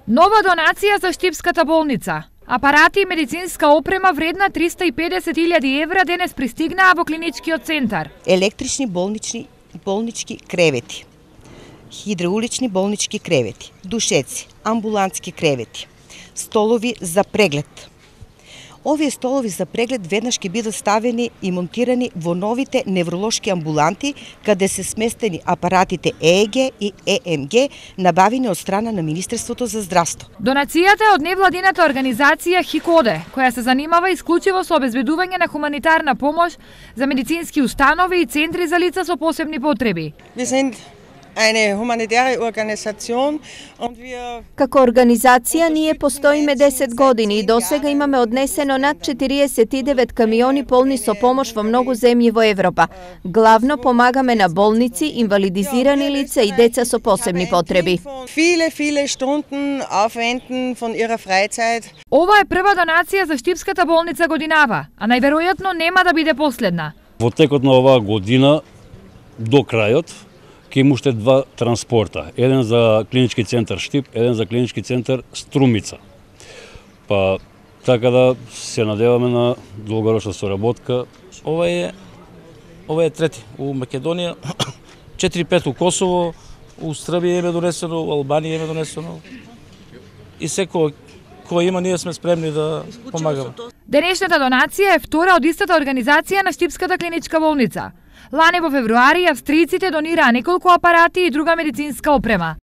Нова донација за Штипската болница. Апарати и медицинска опрема вредна 350.000 евра денес пристигнаа во клиничкиот центар. Електрични болнички кревети, хидраулични болнички кревети, душеци, амбулантски кревети, столови за преглед. Овие столови за преглед веднаш ќе бидат ставени и монтирани во новите невролошки амбуланти, каде се сместени апаратите ЕЕГ и ЕМГ, набавени од страна на Министерството за здравство. Донацијата е од невладината организација ХИКОДЕ, која се занимава исклучиво со обезбедување на хуманитарна помош за медицински установи и центри за лица со посебни потреби. Како организација ние постоиме 10 години и досега имаме однесено над 49 камиони полни со помош во многу земји во Европа. Главно помагаме на болници, инвалидизирани лица и деца со посебни потреби. Ова е прва донација за Штипската болница годинава, а најверојатно нема да биде последна. Во текот на оваа година до крајот ќе има уште 2 транспорта, еден за клинички центар Штип, еден за клинички центар Струмица. Па така да се надеваме на долгорочна соработка. Ова е трети у Македонија, 4-5 у Косово, у Србија е донесено, у Албанија е донесено. И секој кој има, ние сме спремни да помагаме. Денешната донација е втора од истата организација на Штипската клиничка болница. Лани во февруари австријците донираа неколку апарати и друга медицинска опрема.